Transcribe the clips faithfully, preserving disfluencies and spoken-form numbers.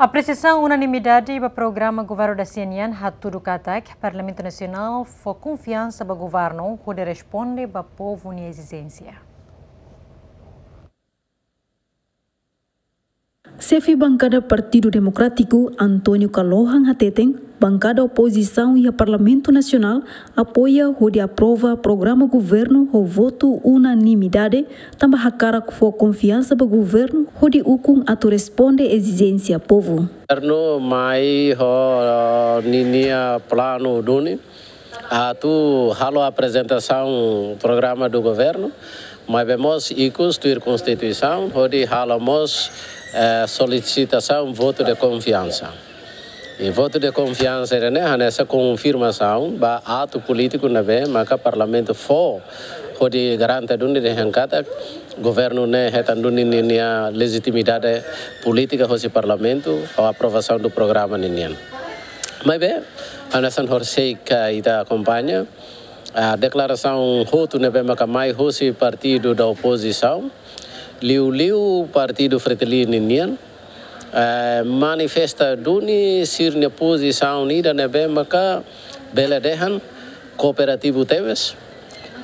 Apresiasaun unanimidade ba programa governu da C N N hatudu katak Parlamentu Nasionál fó konfiansa ba governu hodi responde ba povu nia ezijénsia. Xefe bankada Partidu Demokrátiku, António Kalohan hateten, bankada opozisaun iha Parlamentu Nasionál apoia hodi aprova programa governu ho votu unanimidade, tanba hakarak fó konfiansa ba governu hodi ukun atu responde ezijénsia povu. Governu mai ho ninia planu duni atu halo aprezentasaun programa do governu, maibé mós ikus tuir Konstituisaun, hodi halo mós, eh, solisitasaun votu de konfiansa. I votu de konfiansa ne'e hanesan konfirmasaun ba atu polítiku ne'ebé maka Parlamentu fó hodi garante duni dehan katak governu ne'e hetan duni ninia lejitimidade polítika hosi Parlamentu ho aprovasaun do programa ninian. Maibé, hanesan horiseik ita akompaña, ah, deklarasaun hotu ne'ebé maka mai hosi partidu da opozisaun, liuliu partidu Fretilin ninian, eh, manifesta duni sira-nia pozisaun ida ne'ebé maka bele dehan kooperativu tebes,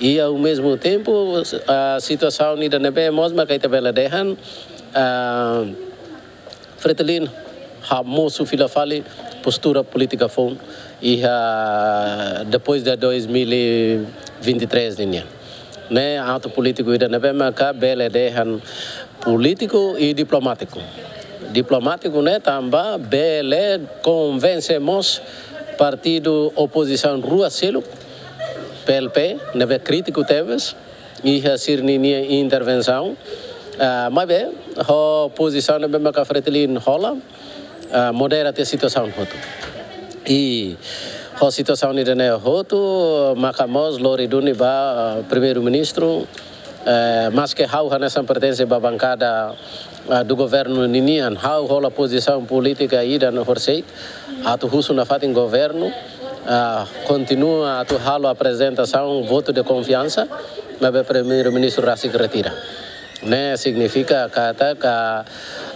i ao mesmo tempo, ah, situasaun ida ne'ebé mós maka ita bele dehan, ah, Fretilin hamosu fila fali postura polítika foun iha depois de dois mil e vinte e três ninian. Ne'e atu polítiku ida ne'ebé maka bele dehan polítiku i diplomátiku. Diplomátiku ne'e tanba bele konvense mós partidu opozisaun rua seluk, P L P, ne'ebé krítiku tebes iha sira-ninia intervensaun. Ah, maibé, ho pozisaun ne'ebé maka Fretilin hola, ah, modera tiha situasaun hotu. I ho situasaun ida-ne'e hotu, maka mós lori duni ba, ah, Primeiru-Ministru, eh, maske ha'u hanesan pertense ba bankada, ah, do governu ninian, ha'u hola pozisaun polítika ida no horiseik, atu husu nafatin governu, ah, kontinua atu halo aprezentasaun votu de konfiansa, maibé Primeiru-Ministru rasik retira. Ne'e signifika katak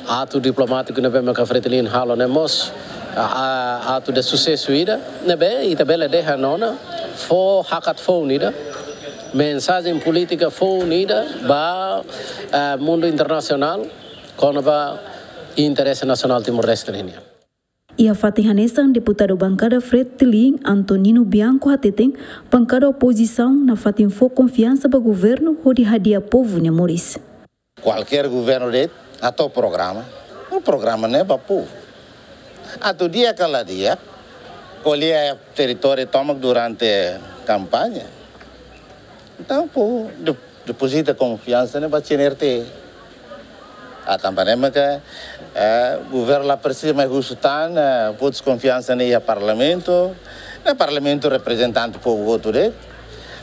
atu diplomátiku ne'ebé maka Fretilin halo ne'e mós, ah, ah, atu de susesu ida, ne'ebé ita bele dehan ona, fó hakat foun ida, mensajen polítika foun ida ba, ah, mundu internasionál, kona-ba interese nasionál Timor-Leste ninian. Iha fatin hanesan, deputadu bankada Fretilin, Antonino Bianco hateten, bankada opozisaun nafatin fó konfiansa ba governu hodi hadi'a povu nia moris. Kualkér governu de'it hato'o programa, o programa ne'e ba povu. Atu di'ak ka la di'ak, ko'alia teritóriu tomak durante kampaña. Entaun, povu de-, depozita konfiansa ne'e ba C N R T. Ah, tanba ne'e maka, eh, governu la presiza mai husu tan, eh, votus konfiansa ne'e iha Parlamentu, ne'e Parlamentu reprezentante povu hotu de'it.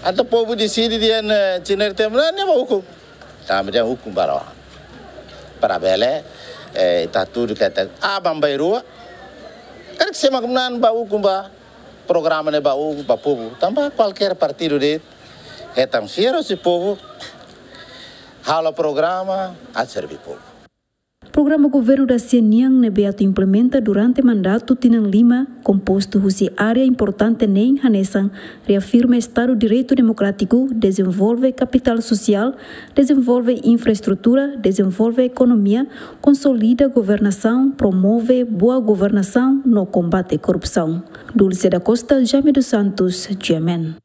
Entaun povu deside dehan, eh, C N R T ne'e, ne'e ba ukun. Tanba dehan ukun ba rua. Para bele, eh, ita hatudu katak aban-bainrua. Karik sema kumunan ba ukun ba programa ne'e ba ukun ba povu. Tanba kualkér partidu de'it hetan fiar hosi povu, halo programa, atu serve povu. Programa governu da C N N ne'ebé atu implementa durante mandatu tinan lima, kompostu husi área importante neen hanesan reafirma Estadu Direitu Demokrátiku, dezenvolve kapitál sosiál, dezenvolve infraestrutura, dezenvolve ekonomia, konsolida governasaun, promove boa governasaun no kombate korrupsaun. Dulce da Costa, Jaime dos Santos, G M N.